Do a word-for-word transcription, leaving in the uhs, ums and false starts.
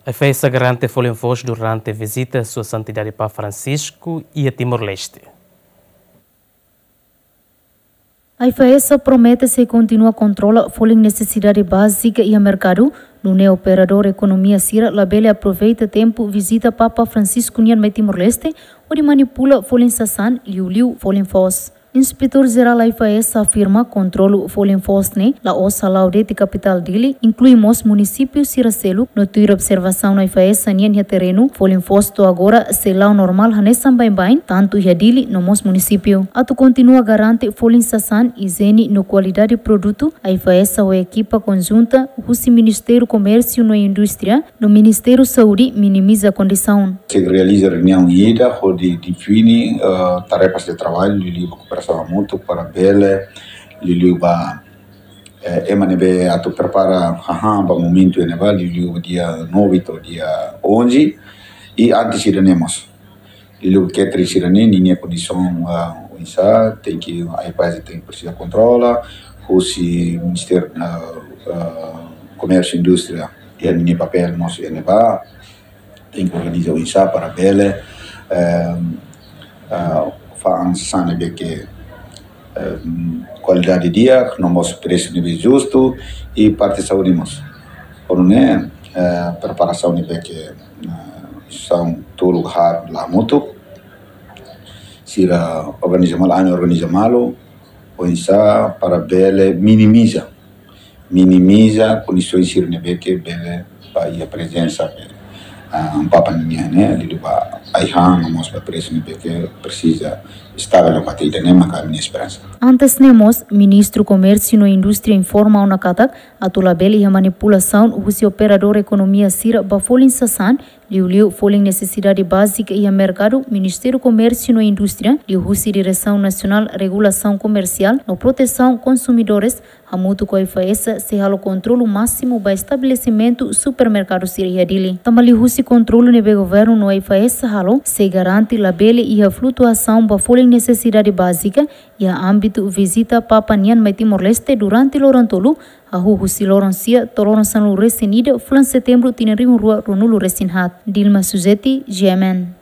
AIFAESA garante folin foos durante vizita Sua Santidade Papa Francisco iha Timor-Leste. AIFAESA promete sei kontinua kontrola folin nesesidade bázika iha merkadu, nune'e operadór ekonomia sira labele aproveita tempu vizita Papa Francisco nian mai Timor-Leste, hodi manipula folin sasán, liuliu folin foos. Inspetór Jerál AIFAESA afirma kontrolu folin foos ne'e la'ós hala'o de'it kapitál Dili, inklui mós munisípiu sira seluk, no tuir observasaun AIFAESA nian iha terrenu, folin foos to'o agora sei la'o normál hanesan baibain, tantu iha Dili no mós munisípiu. Atu kontinua garante folin sasán, ijiene no kualidade produtu, AIFAESA ho ekipa konjunta husi Ministériu Komérsiu no Indústria no Ministériu Saúde minimiza kondisaun. Se realiza reuniaun ida hodi define, eh, tarefas de trabalho, liuliu ba kooperasaun hamutuk para bele, liuliu ba, eh, ema ne'ebé atu prepara hahán ba momentu ne'ebá, liuliu ba dia nove to'o dia onze, i antes ida-ne'e mós. Liuliu catering sira-ne'e, ninia kondisaun, ah, oinsá, tenke, AIFAESA tenke presiza kontrola, husi Ministériu, ah, ah, Komérsiu Indústria, iha ninia papél mós iha ne'ebá, tenke organiza oinsá para bele, eh, ah, fa'an sasán ne'ebé ke, eh, kualidade di'ak, no mós presu ne'ebé justu, i parte saúde mós. Por ne'e, eh, preparasaun ne'ebé ke, eh, sasán tolu haat la hamutuk, sira organiza malu, ami organiza malu, oinsá para bele minimiza, minimiza kondisaun sira ne'ebé ke bele ba iha prezensa, ah, Papa nian ne'e, liuliu ba ai-han, no mós ba presu ne'ebé ke presiza estavel ba tiha ne'e, maka ami-nia esperansa. Antes ne'e mós, Ministru Komérsiu no Indústria informa ona katak, atu labele iha manipulasaun husi operadór ekonomia sira ba folin sasán, liuliu folin nesesidade bázika iha merkadu, Ministériu Komérsiu no Indústria, liuhusi Diresaun Nasionál Regulasaun Komersiál no Protesaun Konsumidores, hamutuk ho AIFAESA, sei halo kontrolu másimu ba estabelesimentu supermerkadu sira iha Dili. Tanba liuhusi kontrolu ne'ebé governu no AIFAESA halo, sei garante labele iha flutuasaun ba folin nesesidade bázika iha ámbitu vizita Papa nian mai Timor-Leste durante loron tolu, hahú husi loron sia to'o loron sanulu-resin-ida fulan Setembru tinan rihun rua ruanulu-resin-haat. Dilma Suzeti, G M N.